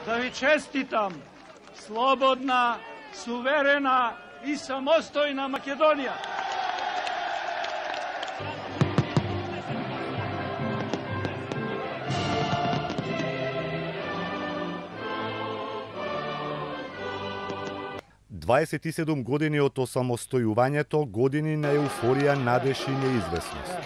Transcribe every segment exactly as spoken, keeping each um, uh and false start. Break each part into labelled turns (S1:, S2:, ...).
S1: Да ви честитам слободна, суверена и самостојна Македонија.
S2: дваесет и седум години од осамостојувањето, години на еуфорија, надеж и неизвестност.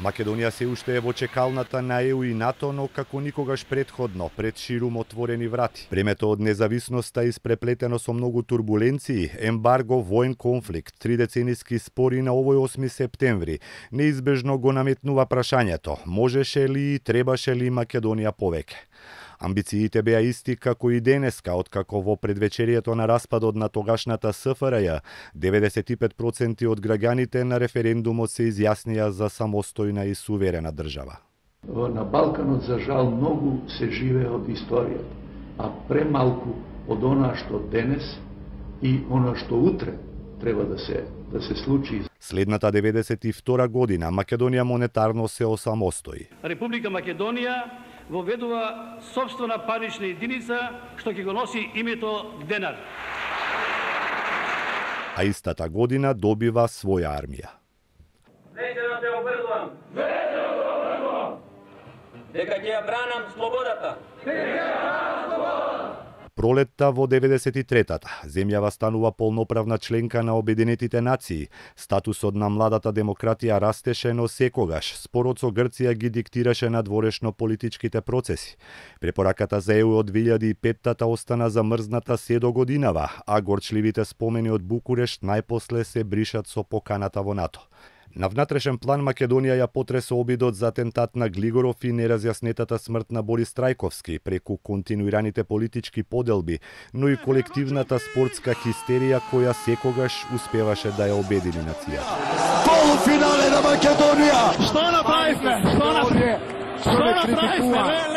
S2: Македонија се уште е во чекалната на Е У и НАТО, но како никогаш претходно, пред ширум отворени врати. Времето од независноста испреплетено со многу турбуленции, ембарго, воен конфликт, тридецениски спори на овој осми септември, неизбежно го наметнува прашањето: можеше ли и требаше ли Македонија повеќе? Амбициите беа исти како и денеска, откако во предвечерието на распадот на тогашната С Ф Р Ј, деветдесет и пет проценти од граѓаните на референдумот се изјаснија за самостојна и суверена држава.
S3: На Балканот, за жал, многу се живее од историјата, а премалку од она што денес и она што утре треба да се да се случи.
S2: Следната деветдесет и втора година Македонија монетарно се осамостои.
S1: Република Македонија воведува сопствена парична единица што ќе го носи името денар.
S2: А истата година добива своја армија.
S4: Веќе да те обврзувам. Веќе да те обврзувам. Дека ќе ја бранам слободата. Дека ќе ја бранам слободата.
S2: Пролетта во деветдесет и третата, земјава станува полноправна членка на Обединетите нации. Статусот на младата демократија растеше, но секогаш спорот со Грција ги диктираше надворешно политичките процеси. Препораката за Е У од две илјади и петта остана замрзната се до годинава, а горчливите спомени од Букурешт најпосле се бришат со поканата во НАТО. На внатрешен план Македонија ја потресе обидот за атентат на Глигоров и неразјаснетата смрт на Борис Трајковски преку континуираните политички поделби, но и колективната спортска хистерија која секогаш успеваше да ја обедини нацијата.
S5: Полуфинале на Македонија!
S1: Што направивме? Што направивме? Што направивме?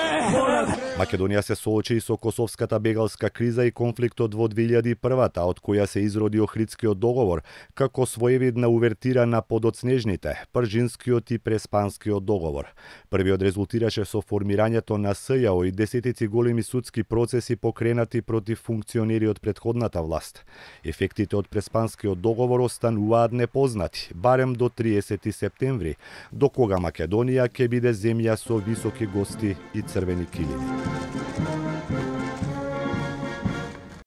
S2: Македонија се соочи и со косовската бегалска криза и конфликтот во две илјади и првата, од која се изроди Охридскиот договор, како своевидна увертира на подоцнежните, Пржинскиот и Преспанскиот договор. Првиот резултираше со формирањето на С Ј О и десетици големи судски процеси покренати против функционери од претходната власт. Ефектите од Преспанскиот договор остануваат непознати, барем до триесети септември, до кога Македонија ќе биде земја со високи гости и црвени килими.